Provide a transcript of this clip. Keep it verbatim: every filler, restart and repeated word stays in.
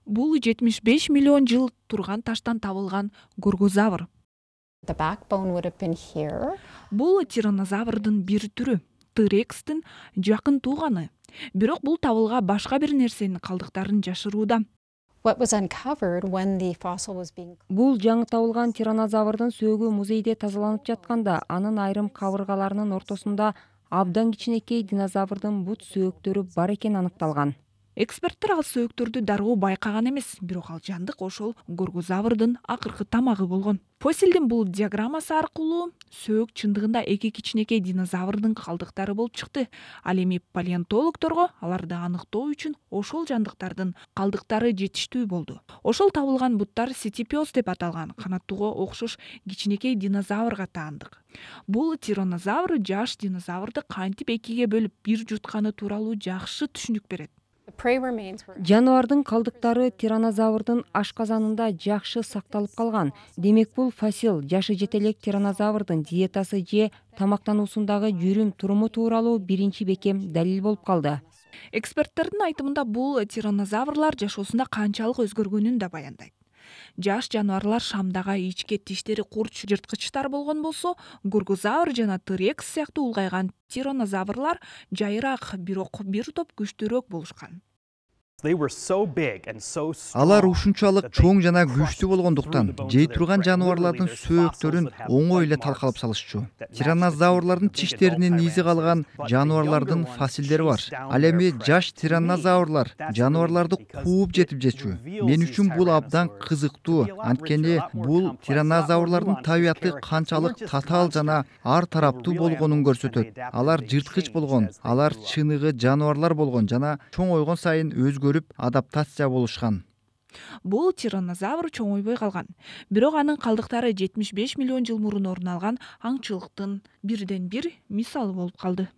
Бул жетимиш беш миллион жыл турган таштан табылган горгозавр. The backbone would have been here. Бул тираннозаврдын бир түрү, T-Rex'тин жакын тууганы. Бирок бул табылга башка бир нерсенин калдыктарын жашырууда. What was uncovered when the fossil was being Бул жаңы табылган тираннозаврдын сөөгү музейде тазаланып жатканда, анын айрым кабыргаларынын ортосунда абдан кичинекей динозаврдын бут сөөктөрү бар экени аныкталган. Эксперттер ал сөөктөрдү дароо байкаган эмес, бирок ал жандык ошол горгозаврдын акыркы тамагы болгон. Фосилдин бул диаграммасы аркылуу сөөк чындыгында эки кичинекей динозаврдын калдыктары болуп чыкты. Ал эми палеонтологдорго аларды аныктоо үчүн ошол жандыктардын калдыктары жетиштүү болду. Ошол табылган буттар сетипиоз деп аталган канаттууга окшош кичинекей динозаврга таандык. Бул тираннозавр жаш динозаврды кантип экиге бөлүп бир жутканы тууралуу жакшы түшүнүк берет. the prey remains were Жаныбардын калдыктары тираннозаврдын ашказанында жакшы сакталып калган. Демек бул фасил жашы жете элек тираннозаврдын диетасы же тамактануусундагы жүрүм туруму тууралуу биринчи бекем далил болуп калды. Эксперттердин айтымында бул тираннозаврлар жашоосунда канчалык өзгөргөнүн да баяндайт. Жаш жаныбарлар шамдага ичке тиштери курч жырткычтар болгон болсо, горгозавр жана T-Rex сыяктуу улгайган тираннозаврлар жайыраак, бирок бир топ күчтүүрөөк болушкан. Алар ушунчалык чоң жана күчтүү болгондуктан жей турган жаныбарлардын сөөктөрүн оңой эле талкалап салышчу. Тираннозаврлардын тиштеринин изи калган жаныбарлардын фасилдери бар. Ал эми жаш тираннозаврлар жаныбарларды кууп жетип жечү. Мен үчүн бул абдан кызыктуу, анткени бул тираннозаврлардын табияты канчалык татаал жана ар тараптуу болгонун көрсөтөт. Алар жырткыч болгон, алар чыныгы жаныбарлар болгон жана чоңойгон сайын өзгөрүп адаптация болушкан. Бул тираннозавр чоңойбой калган. Бирок анын калдыктары жетимиш беш миллион жыл мурун орун алган аңчылыктын бирден бир мисалы болуп калды.